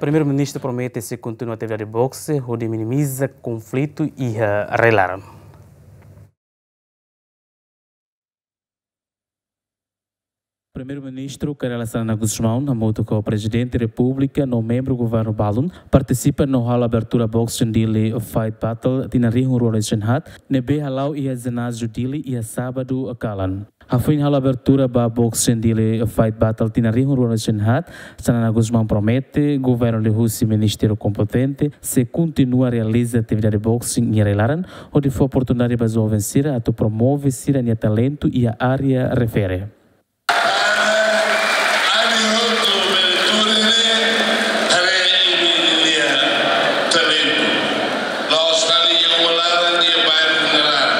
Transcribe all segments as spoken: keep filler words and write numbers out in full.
Primeiru-Ministru promete sei kontinua atividade boxe hodi minimiza konflitu iha rai-laran. Primeiru-Ministru Kay Rala Xanana Gusmão, hamutuk ho Prezidente Repúblika no membru governu balun, partisipa no halo abertura boxing Dili Fight Battle tinan rihun rua ruanulu-resin-haat, ne'ebé hala'o iha jináziu Dili iha sábadu kalan. Hafoin halo abertura ba boxing Dili Fight Battle tinan rihun rua ruanulu-resin-haat, Xanana Gusmão promete governu liuhusi ministériu kompetente sei kontinua realiza atividade boxing iha rai-laran, hodi fó oportunidade ba joven sira atu promove sira-nia talentu iha área refere. Ami hotu bele tuur ne'e, haree imi-nia talentu. La'ós fali iha uma laran, iha bairru nia laran.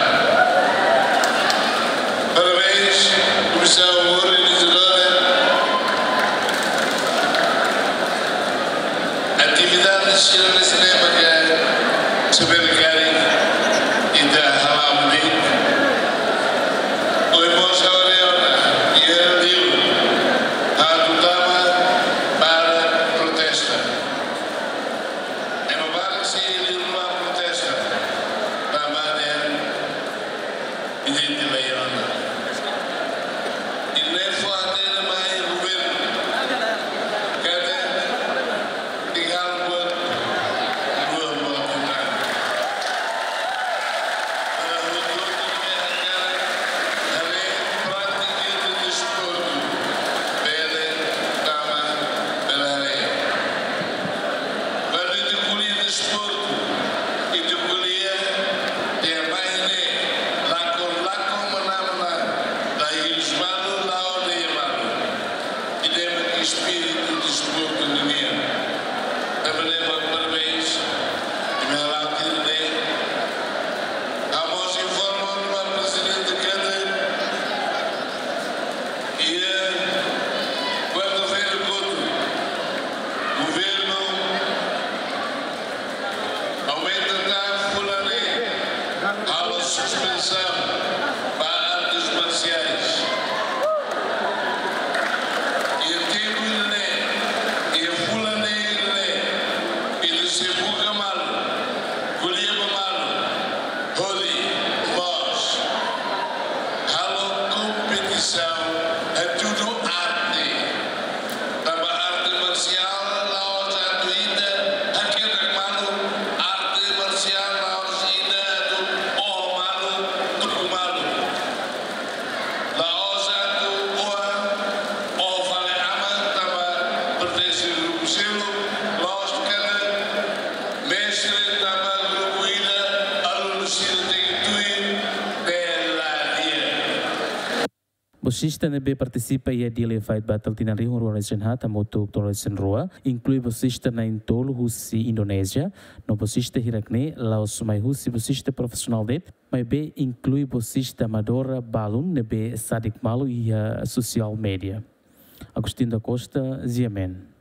Parabéns, Komisaun Organizadora. Atividade sira ne'e, se lembra ke se bele kari ita hala'o de'it. Ohin mós ha'u haree ona iha liur atu tama para protesta. Ema barak sei iha liur ba protesta. Tanba dehan ita-nia lei ona. Ita-nia fó hatene mai governu katak ita halo buat rua, buat rua. Para hotu-hotu ne'ebé hakarak haree prátika ida desportu, bele tama, bele haree. Kuandu ita ko'alia desportu, ita ko'alia tiha mai ne'e, lakon-lakon manán-manán, la hirus malu, la'o de'it malu. Ida-ne'e mak espíritu desportu nian. Tanba ne'e mak parabéns, imi hala'o tuir ne'e. Ha'u mós informa ona ba Prezidente katak iha kuarta-feira kotuk, governu aumenta tan fulan ne'e, halo suspensaun ba artes marsiais. Iha tempu ne'e, iha fulan ne'e, ita sei buka malu, ko'alia ba malu, hodi mós halo kompetisaun, hatudu arte. Tanba arte marsiál la'ós atu ita haketak malu, arte marsiál la'ós ita atu oho malu, tuku malu. La'ós atu oho, oho fali aman, tanba pertense grupu seluk, la'ós katak mestre tanba grupu ida, alunu sira tenke tuir, bela dia. Boxista ne'ebé partisipa iha Dili Fight Battle tinan rihun rua ruanulu-resin-haat hamutuk tolu ruanulu-resin-rua, inklui boxista na'in-tolu husi Indonézia, no boxista hirak-ne'e la'ós mai husi boxista profisionál de'it, maibé inklui boxista amadora balun ne'ebé sadik malu iha sosiál média. Agostinho da Costa, G M N.